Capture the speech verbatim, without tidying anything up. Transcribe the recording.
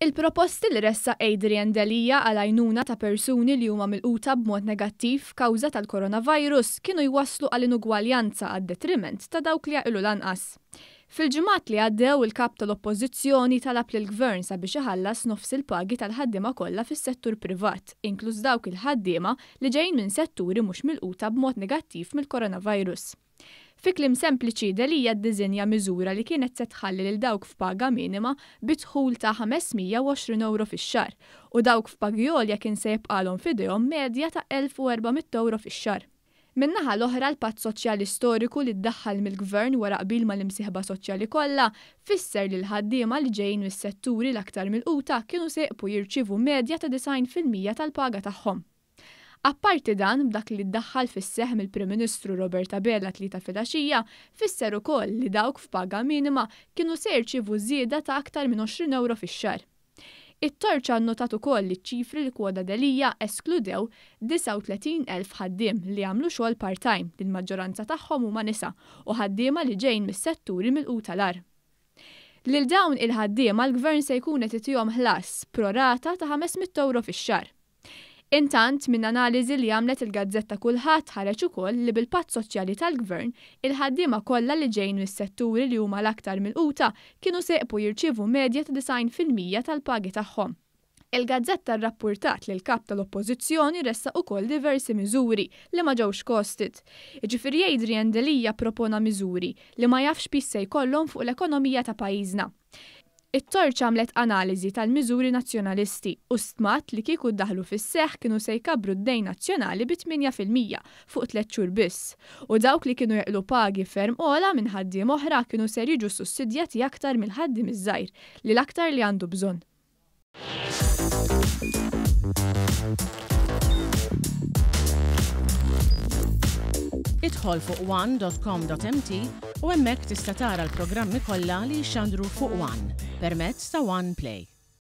Il-proposti li ressaq Adrian Delia għal għajnuna ta' persuni li huma milquta b'mod negattiv kawża tal-coronavirus kienu jwasslu għal inugwaljanza għad-detriment ta' dawk li jaqilgħu l-anqas. Fil-ġimgħat li għaddew, il-kap tal-Oppożizzjoni talab lill-Gvern sabiex iħallas nofs il-pagi tal-ħaddiema kollha fis-settur privat, inkluż dawk il-ħaddiema li ġejjin minn setturi mhux milquta b'mod negattiv mill-coronavirus. Fi kliem sempliċi, Delia ddisinja miżura li kienet se tħalli lil dawk f'paga minima bi dħul ta' ħames mija u għoxrin euro fix-xahar u dawk f'pagi għolja kien se jibqalhom f'idejhom medja ta' elf u erba' mitt euro fix-xahar. Min-naħa l-oħra, l-patt soċjali storiku li ddaħħal mill-Gvern wara qbil mal-imsieħba soċjali kollha fisser li l-ħaddiema li ġejjin mis-setturi l-aktar milquta kienu se jibqgħu jirċievu medja ta' disgħin fil-mija tal-paga tagħhom. Apparti dan, b'dak li ddaħħal fis-seħ mill-Prim Ministru Robert Abela t-Tlieta filgħaxija, fisser ukoll li dawk f'paga minima kienu se jirċievu żieda ta' aktar minn għoxrin euro fix-xahar. It-Torċa nnotat ukoll li ċifri li kwoda Delia eskludew disgħa u tletin elf ħaddiem li għamlu xogħol part-time, li l-maġġoranza tagħhom huma nisa u ħaddiema li ġejjin mis-setturi milquta l-agħar. Lil dawn il-ħaddiema l-Gvern se jkun qed itihom ħlas pro rata ta' ħames mitt euro fix-xahar. Intant, minn analiżi li għamlet il-gazzetta Kullħadd ħareġ ukoll li bil-patt soċjali tal-Gvern, il-ħaddiema kollha li ġejjin mis-setturi li huma l-aktar milquta kienu se jibqgħu jirċievu medja ta' disgħin fil-mija tal-pagi tagħhom. Il-gazzetta rrappurtat li l-kap tal-Oppożizzjoni ressaq ukoll diversi miżuri li ma ġewx costed. Jiġifieri Adrian Delia propona miżuri li ma jafx piż se jkollhom fuq l-ekonomija ta' pajjiżna. It-Torċa għamlet analiżi tal-miżuri nazzjonalisti u stmat li kieku daħlu fis-seħ kienu se jkabru d-dejn nazzjonali bi tmienja fil-mija fuq tliet xhur biss. U dawk li kienu jaqilgħu pagi ferm ogħla minn ħaddiem oħra kienu ser jiġu sussidjati aktar mill-ħaddiem iż-żgħir li l-aktar li għandu bżonn. Idħol fuq one dot com dot M T u hemmhekk tista' tara l-programmi kollha li jxandru fuq One permezz ta' One Play.